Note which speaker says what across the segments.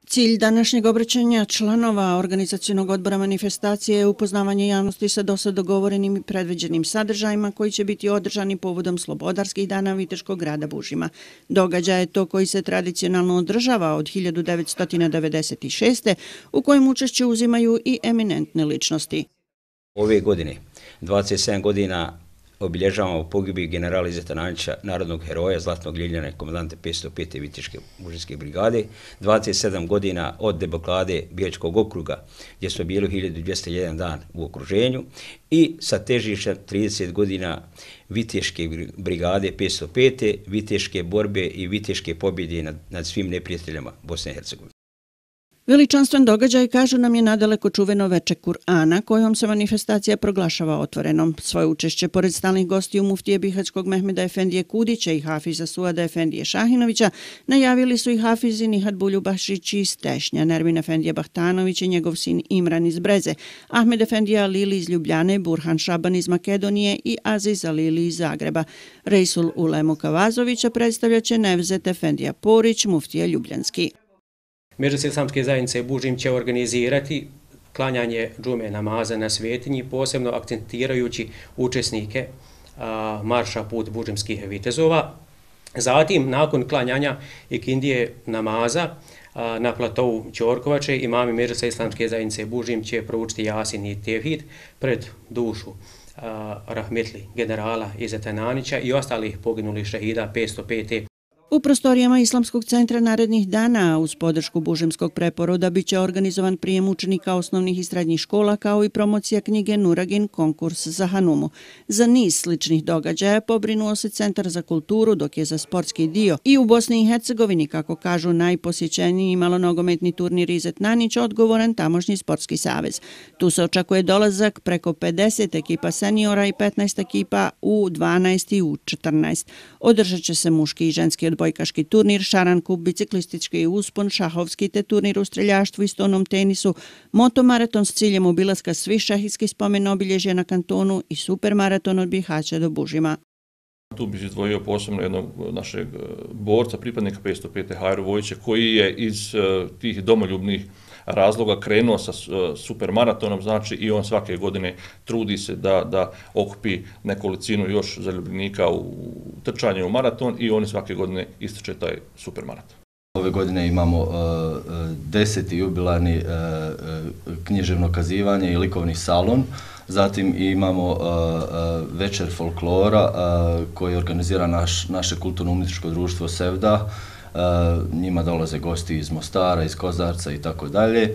Speaker 1: Cilj današnjeg obraćanja članova organizacionog odbora manifestacije je upoznavanje javnosti sa dosad dogovorenim i predviđenim sadržajima koji će biti održani povodom Slobodarskih dana Viteškog grada Bužima. Događaj je to koji se tradicionalno održava od 1996. u kojem učešće uzimaju i eminentne ličnosti.
Speaker 2: Ove godine, 27 godina obilježavamo pogibiju generala Izeta Nanića, narodnog heroja, zlatnog ljiljana i komandante 505. Viteške mužinske brigade, 27 godina od deblokade Bijačkog okruga, gdje smo bili 1201 dan u okruženju, i sa težištem 30 godina Viteške brigade 505. Viteške borbe i Viteške pobjede nad svim neprijateljama Bosne i Hercegovine.
Speaker 1: Veličanstven događaj, kažu nam, je nadaleko čuveno veče Kur'ana, kojom se manifestacija proglašava otvorenom. Svoje učešće, pored stalnih gostiju muftije Bihaćkog Mehmeda Efendije Kudića i hafiza Suada Efendije Šahinovića, najavili su i hafizi Nihat Buljubakšić iz Tešnja, Nermin Efendije Bahtanović i njegov sin Imran iz Breze, Ahmed Efendija Alili iz Ljubljane, Burhan Šaban iz Makedonije i Aziz Alili iz Zagreba. Rejsul Ulemu Kavazovića predstavljaće Nevzet Efendija Porić, muftija Ljubljanski.
Speaker 3: Medžlis islamske zajednice Bužim će organizirati klanjanje džume namaza na Svetinji, posebno akcentirajući učesnike marša Put bužimskih vitezova. Zatim, nakon klanjanja ikindije namaza na platovu Ćorkovače, imami Medžlisa islamske zajednice Bužim će proučiti Jasin i Tevhid pred dušu rahmetli generala Izeta Nanića i ostalih poginulih šehida 505.
Speaker 1: U prostorijama Islamskog centra narednih dana uz podršku Bužimskog preporoda biće organizovan prijem učenika osnovnih i srednjih škola kao i promocija knjige Nuragin, konkurs za Hanumu. Za niz sličnih događaja pobrinuo se Centar za kulturu, dok je za sportski dio i u Bosni i Hercegovini, kako kažu, najposjećeniji malonogometni turnir Izet Nanić odgovoran tamošnji sportski savez. Tu se očekuje dolazak preko 50 ekipa seniora i 15 ekipa U12 i U14. Održat će se muški i ženski odbojkaški turnir, šarankup, biciklistički uspon, šahovski te turnir u streljaštvu i stonom tenisu, motomaraton s ciljem obilaska svih šahijskih spomen obilježja na kantonu i supermaraton od Bihaća do Bužima.
Speaker 4: Tu bih izdvojio posebno jednog našeg borca, pripadnika 505. Hajru Vojića, koji je iz tih domoljubnih razloga krenuo sa supermaratonom, znači i on svake godine trudi se da okupi nekolicinu još zaljubljenika u trčanje u maraton i oni svake godine ističe taj supermaraton.
Speaker 5: Ove godine imamo 10. jubilarni književno kazivanje i likovni salon, zatim imamo večer folklora koji organizira naše kulturno-umjetničko društvo Sevda. Njima dolaze gosti iz Mostara, iz Kozarca i tako dalje.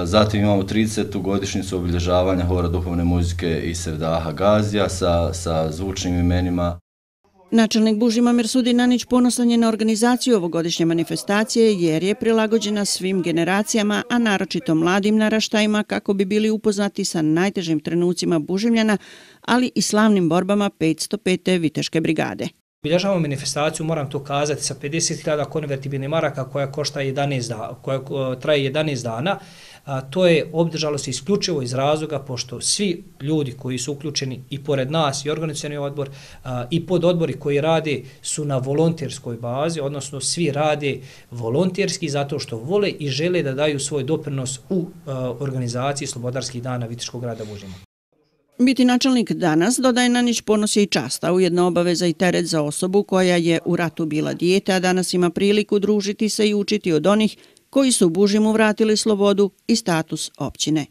Speaker 5: Zatim imamo 30. godišnjicu obilježavanja hora duhovne muzike iz Sevdaha Gazija sa zvučnim imenima.
Speaker 1: Načelnik Bužima Mersudin Nanić ponosan je na organizaciju ovogodišnje manifestacije jer je prilagođena svim generacijama, a naročito mladim naraštajima, kako bi bili upoznati sa najtežim trenucima Bužimljana, ali i slavnim borbama 505. Viteške brigade.
Speaker 6: Obilježavamo manifestaciju, moram to kazati, sa 50.000 konvertibilnih maraka koja traje 11 dana. To je obdržalo se isključivo iz razloga pošto svi ljudi koji su uključeni i pored nas i organizacioni odbor i pododbori koji rade su na volonterskoj bazi, odnosno svi rade volonterski zato što vole i žele da daju svoj doprinos u organizaciji Slobodarskih dana Viteškog grada Bužima.
Speaker 1: Biti načelnik danas, dodaje Nanić, ponos je i čast, a ujedno obaveza i teret za osobu koja je u ratu bila dijete, a danas ima priliku družiti se i učiti od onih koji su Bužimu vratili slobodu i status općine.